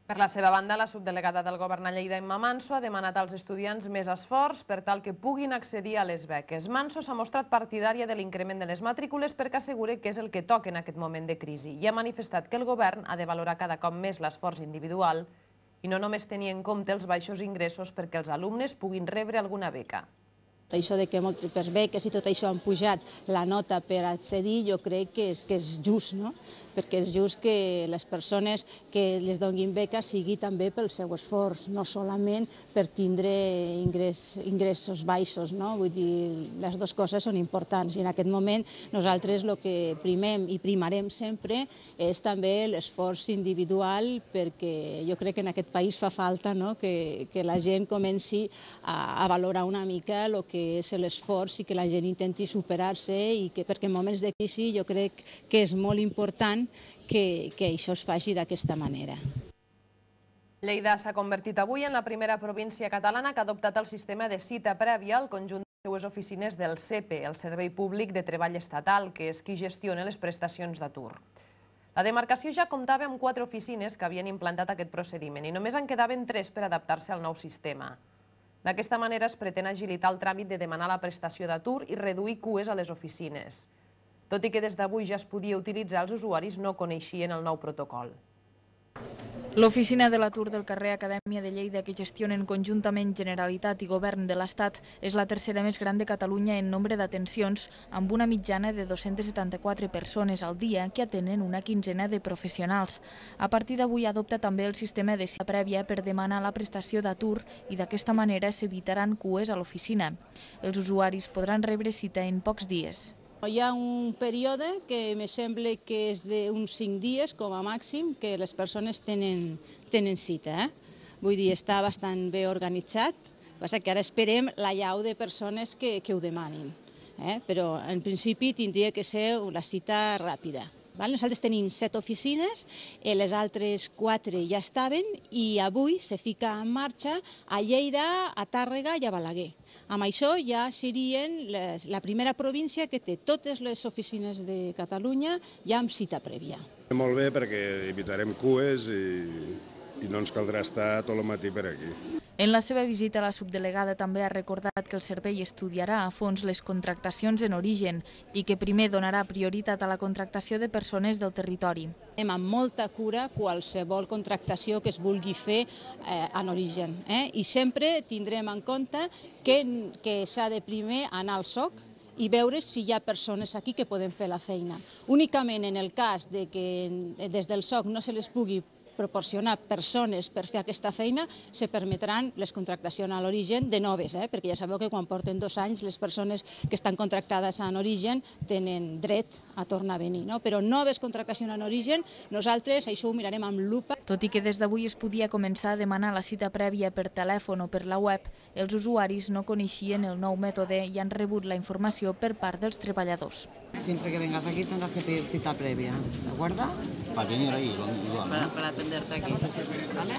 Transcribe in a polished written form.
Per la seva banda, la subdelegada del Govern a Lleida, Emma Manso, ha demanat als estudiants més esforç per tal que puguin accedir a les beques. Manso s'ha mostrat partidària de l'increment de les matrícules perquè assegura que és el que toca en aquest moment de crisi i ha manifestat que el Govern ha de valorar cada cop més l'esforç individual i no només tenir en compte els baixos ingressos perquè els alumnes puguin rebre alguna beca. Això de que per beques i tot això han pujat la nota per accedir, jo crec que és just, no? Perquè és just que les persones que les donin beques sigui també pel seu esforç, no solament per tindre ingressos baixos, no? Vull dir, les dues coses són importants i en aquest moment nosaltres el que primem i primarem sempre és també l'esforç individual, perquè jo crec que en aquest país fa falta, no? que la gent comenci a valorar una mica el que és l'esforç i que la gent intenti superar-se i que perquè en moments de crisi jo crec que és molt important que això es faci d'aquesta manera. Lleida s'ha convertit avui en la primera província catalana que ha adoptat el sistema de cita prèvia al conjunt de les seues oficines del SEPE, el Servei Públic de Treball Estatal, que és qui gestiona les prestacions d'atur. La demarcació ja comptava amb 4 oficines que havien implantat aquest procediment i només en quedaven 3 per adaptar-se al nou sistema. D'aquesta manera es pretén agilitar el tràmit de demanar la prestació d'atur i reduir cues a les oficines. Tot i que des d'avui ja es podia utilitzar, els usuaris no coneixien el nou protocol. L'Oficina de l'Atur del carrer Acadèmia de Lleida, que gestionen conjuntament Generalitat i Govern de l'Estat, és la tercera més gran de Catalunya en nombre d'atencions, amb una mitjana de 274 persones al dia que atenen una quinzena de professionals. A partir d'avui adopta també el sistema de cita prèvia per demanar la prestació d'atur i d'aquesta manera s'evitaran cues a l'oficina. Els usuaris podran rebre cita en pocs dies. Hi ha un període que me sembla que és d'uns 5 dies com a màxim que les persones tenen cita. Vull dir, està bastant bé organitzat, passa que ara esperem la llau de persones que ho demanin. Però en principi tindria que ser la cita ràpida. Nosaltres tenim 7 oficines, les altres 4 ja estaven i avui se fica en marxa a Lleida, a Tàrrega i a Balaguer. Amb això ja serien la primera província que té totes les oficines de Catalunya ja amb cita prèvia. Molt bé perquè evitarem cues i no ens caldrà estar tot el matí per aquí. En la seva visita, la subdelegada també ha recordat que el servei estudiarà a fons les contractacions en origen i que primer donarà prioritat a la contractació de persones del territori. Anem amb molta cura qualsevol contractació que es vulgui fer en origen i sempre tindrem en compte que s'ha de primer anar al SOC i veure si hi ha persones aquí que poden fer la feina. Únicament en el cas que des del SOC no se les pugui proporcionar persones per fer aquesta feina, se permetran les contractacions a l'origen de noves, perquè ja sabeu que quan porten 2 anys les persones que estan contractades en origen tenen dret a tornar a venir. Però noves contractacions en origen, nosaltres això ho mirarem amb lupa. Tot i que des d'avui es podia començar a demanar la cita prèvia per telèfon o per la web, els usuaris no coneixien el nou mètode i han rebut la informació per part dels treballadors. Siempre que vengas aquí tendrás que pedir cita previa, ¿de acuerdo? Para venir ahí, para atenderte aquí, ¿vale?